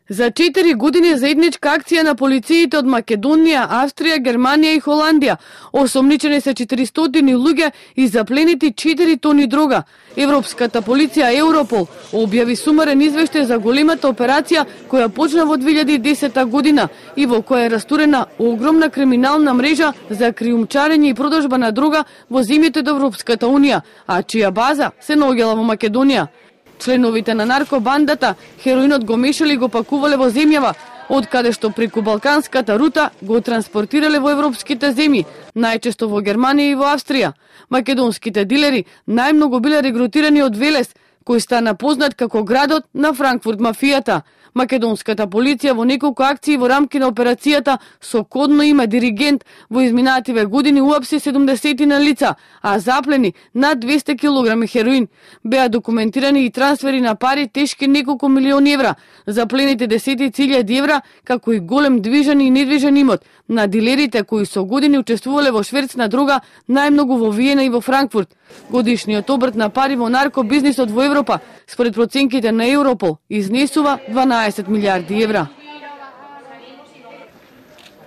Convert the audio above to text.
За 4 години заедничка акција на полициите од Македонија, Австрија, Германија и Холандија. Осомничени се 400 луѓе и запленети 4 тони дрога. Европската полиција Европол објави сумарен извештај за големата операција која почна во 2010 година и во која е растурена огромна криминална мрежа за криумчарење и продажба на дрога во земјите од Европската унија, а чија база се наоѓала во Македонија. Членовите на наркобандата хероинот го мешале и го пакувале во земјава, од каде што преку балканската рута го транспортирале во европските земји, најчесто во Германија и во Австрија. Македонските дилери најмногу биле регрутирани од Велес, кој стана познат како градот на Франкфурт мафијата. Македонската полиција во неколку акции во рамки на операцијата со кодно име Диригент во изминативе години уапси 70 на лица, а заплени над 200 кг хероин. Беа документирани и трансфери на пари тешки неколку милиони евра, заплените десетици илјади евра, како и голем движен и недвижен имот на дилерите кои со години учествувале во шверц на дрога најмногу во Виена и во Франкфурт. Годишниот обрт на пари во наркобизнисот во Европа, според проценките на Европол, изнесува 12 милиарди евра.